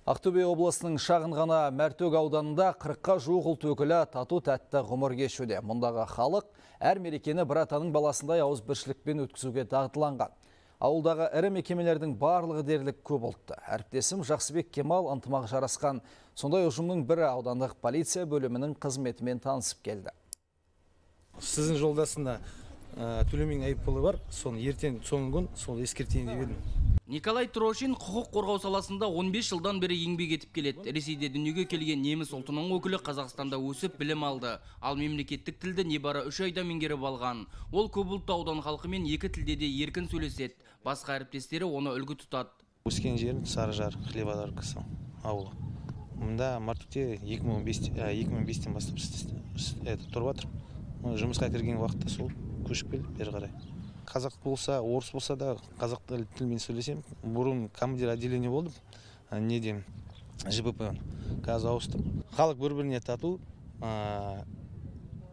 Ақтөбе облысының шағын ғана Мәртөк ауданында 40-қа жуық ұлт өкілі тату-тәтті ғұмыр кешуде. Мұндағы халық әр мерекені бір атаның баласындай ауызбіршілікпен өткізуге дағдыланған. Ауылдағы ірі мекемелердің барлығы дерлік көп ұлтты. Әріптесім Жақсыбек Кемал ынтымақ жарасқан сондай ұжымның бірі аудандық полиция бөлімінің қызметімен танысып келді. Сіздің жолдасында төлемеген айыппұлы бар, соны ертең соңғы күн сол ескертейін деп едім. Николай Трошин құқық қорғау саласында 15 жылдан бері еңбек етіп келеді. Ресейде дүниеге келген неміс ұлтының өкілі Қазақстанда өсіп білім алды. Ал мемлекеттік тілді небары 3 айда меңгеріп алған. Ол көпұлтты аудан халқымен екі тілде де еркін сөйлеседі. Басқа әріптестері оны үлгі тұтады. Өскен жерім Сарыжар, Хлебодаркасы ауылы. Мұнда Мартөкте 2005-тен бастап тұрып жатыр. Жұмысқа кірген уақытта сол көшіп келіп бері қарай. Қазақ болса, орыс болса да қазақ тілімен сөйлесем. Бұрын командир отделение болдым. Неден ЖБП қазір ауыстым. Халық бір-біріне тату,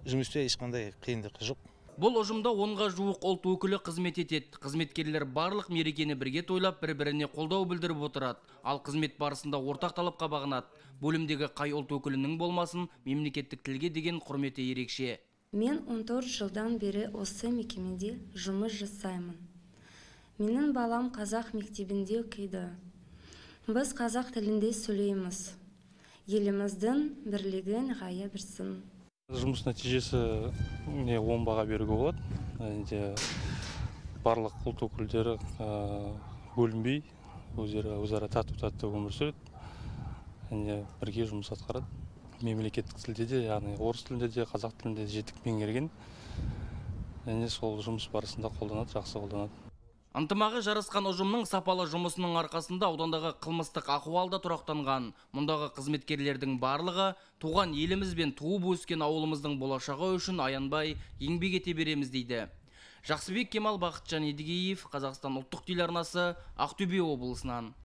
жұмыста ешқандай қиындық жоқ. Бұл ұжымда 10-ға жуық ұлт өкілі қызмет етеді. Қызметкерлер барлық мерекені бірге тойлап, бір-біріне қолдау білдіріп отырады. Ал қызмет барысында ортақ талапқа бағынады. Бөлімдегі қай ұлт өкілінің болмасын, мемлекеттік тілге деген құрметі ерекше. Мен 14 жылдан бері осы мекемеде жұмыс жасаймын. Менің балам қазақ мектебінде оқиды. Біз қазақ тілінде сөйлейміз. Еліміздің бірлігі нығая берсін. Жұмыс нәтижесі 10 баға беруге болады. Барлық ұлт өкілдері бөлінбей, өзара тату-тәтті өмір сүреді. Бірге жұмыс атқарады. Мемлекеттік тілде де, яғни орыс тілінде де, қазақ тілінде де жетік меңгерген. Сол жұмыс барысында қолданады, жақсы қолданады. Ынтымағы жарасқан ұжымның сапалы жұмысының арқасында аудандағы қылмыстық ахуалда тұрақтанған. Мұндағы қызметкерлердің барлығы туған еліміз бен туып өскен ауылымыздың болашағы үшін аянбай еңбек ете береміз дейді. Жақсыбек Кемал, Бақытжан Едігеев, Қазақстан ұлттық телеарнасы, Ақтөбе облысынан.